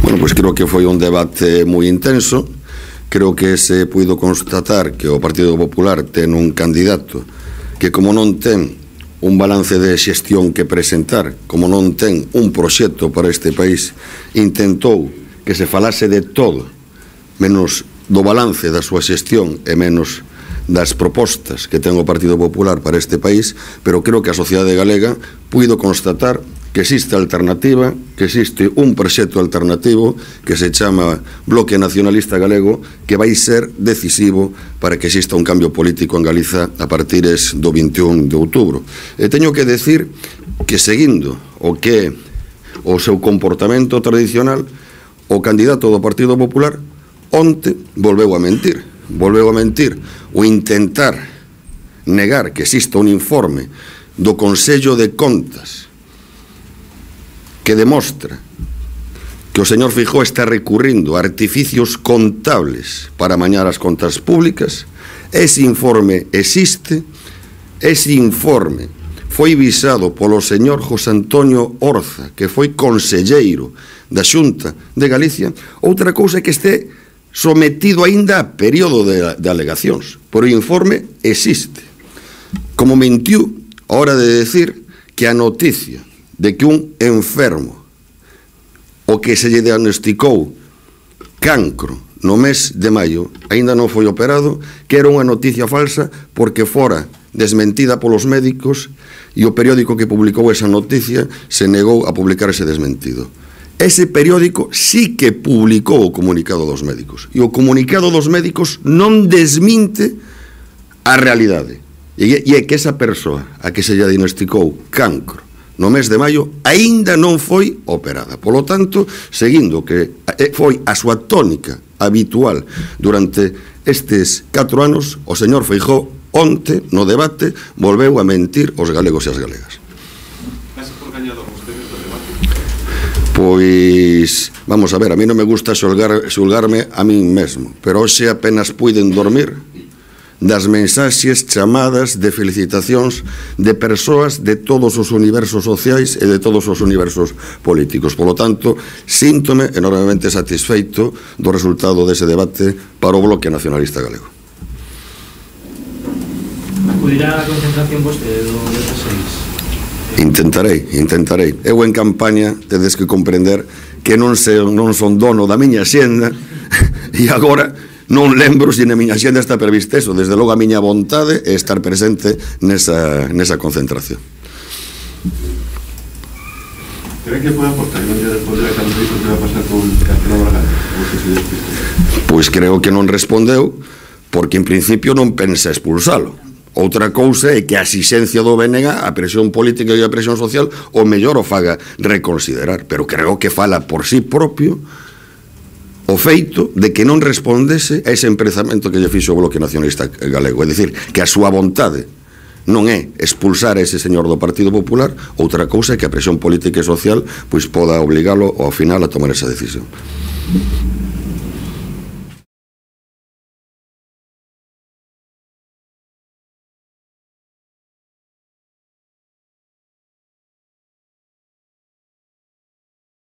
Bueno, pois creo que foi un debate moi intenso. Creo que se puido constatar que o Partido Popular ten un candidato que, como non ten un balance de xestión que presentar, como non ten un proxecto para este país, intentou que se falase de todo, menos do balance da súa xestión e menos das propostas que ten o Partido Popular para este país, pero creo que a sociedade galega puido constatar que existe alternativa, que existe un proxecto alternativo que se chama Bloque Nacionalista Galego, que vai ser decisivo para que exista un cambio político en Galiza a partir do 21 de outubro. E teño que decir que, seguindo o que o seu comportamento tradicional, o candidato do Partido Popular onte volveu a mentir. Volveu a mentir o intentar negar que exista un informe do Consello de Contas que demostra que o señor Feijóo está recurrindo a artificios contables para amañar as contas públicas. Ese informe existe, ese informe foi visado polo señor José Antonio Orza, que foi conselleiro da Xunta de Galicia. Outra cousa é que este sometido aínda a período de alegacións, pero o informe existe. Como mentiu a hora de decir que a noticia de que un enfermo o que se lle diagnosticou cancro no mes de maio aínda non foi operado, que era unha noticia falsa porque fora desmentida polos médicos e o periódico que publicou esa noticia se negou a publicar ese desmentido. Ese periódico sí que publicou o comunicado dos médicos e o comunicado dos médicos non desminte a realidade, e é que esa persoa a que se lle diagnosticou cancro no mes de maio aínda non foi operada. Polo tanto, seguindo que foi a súa tónica habitual durante estes 4 anos, o señor Feijóo onte no debate volveu a mentir aos galegos e as galegas. Pois, vamos a ver, a mí non me gusta xulgarme a min mesmo, pero hoxe apenas puiden dormir das mensaxes chamadas de felicitacións de persoas de todos os universos sociais e de todos os universos políticos. Polo tanto, síntome enormemente satisfeito do resultado dese debate para o Bloque Nacionalista Galego. Acudirá a concentración vostede do 16? Intentarei. Eu en campaña tedes que comprender que non son dono da miña xenda e agora non lembro se na miña xenda está previsto eso. Desde logo a miña vontade é estar presente nesa concentración. ¿Cree que pode aportar un día despois de cando dixo que vai pasar con Castelo Bragado? Pois creo que non respondeu porque en principio non pensa expulsalo. Outra cousa é que a exixencia do BNG, a presión política e a presión social, o mellor o faga reconsiderar, pero creo que fala por sí propio o feito de que non respondese a ese emprazamento que lle fixo o Bloque Nacionalista Galego. É dicir, que a súa vontade non é expulsar a ese señor do Partido Popular, outra cousa é que a presión política e social pois poda obligalo ao final a tomar esa decisión.